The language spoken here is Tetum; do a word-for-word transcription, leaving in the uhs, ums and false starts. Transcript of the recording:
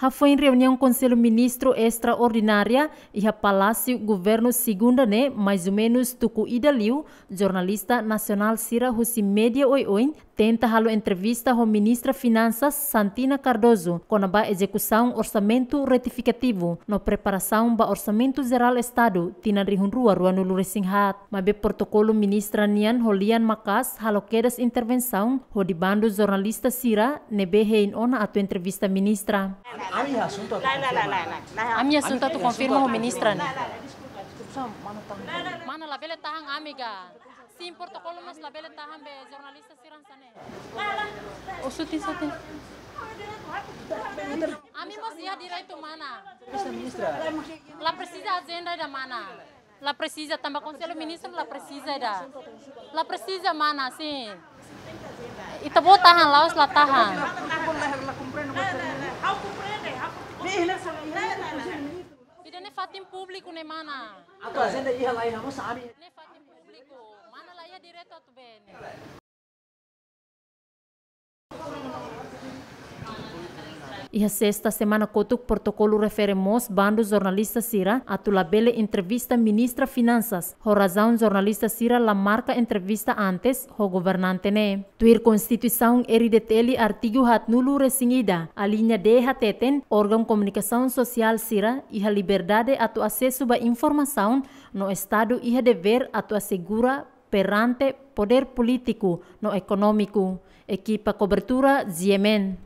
Hafoin reuniaun Konsellu Ministru estraordinária iha Palásiu Governu segunda ne'e, mais ou menus tuku ida liu, jornalista nasionál sira husi média oioin tenta halo entrevista ho Ministra Finansas Santina Cardoso kona-ba ezekusaun orsamentu retifikativu no preparasaun ba Orsamentu Jerál Estadu tinan rihun rua ruanulu-resin-haat. Maibé protokolu ministra nian ho lian maka'as halo kedas intervensaun hodi bandu jornalista sira ne'ebé hein ona atu entrevista ministra. Ami asuntu atu konfirma. Ami asuntu atu konfirma ho ministra ne'e. Mana labele tahan ami ga. Sin protokolu mós labele tahan be jornalista sira hanesan ne'e. O sutin, sutin. Ami mós iha direitu mana. Bisa ministra. La presiza ajenda ida mana. La presiza tanba Konsellu Ministru la presiza ida. La presiza mana, sin. Ita-boot tahan, la'ós la tahan. Ida-ne'e fatin públiku ne'e mana. Atu ajenda iha la iha mós ami. Ne'e fatin públiku. Mana la iha direitu atu be ne'e. Iha sesta semana kotuk protokolu refere mós bandu jornalista sira atu labele entrevista Ministra Finansas, ho razaun jornalista sira la marka entrevista antes ho governante ne'e. Tuir Konstituisaun R D T L artigu haatnulu-resin-ida, aliña D hateten, órgaun komunikasaun sosiál sira iha liberdade atu asesu ba informasaun no Estadu iha devér atu asegura perante podér polítiku no ekonómiku. Ekipa kobertura, G M N.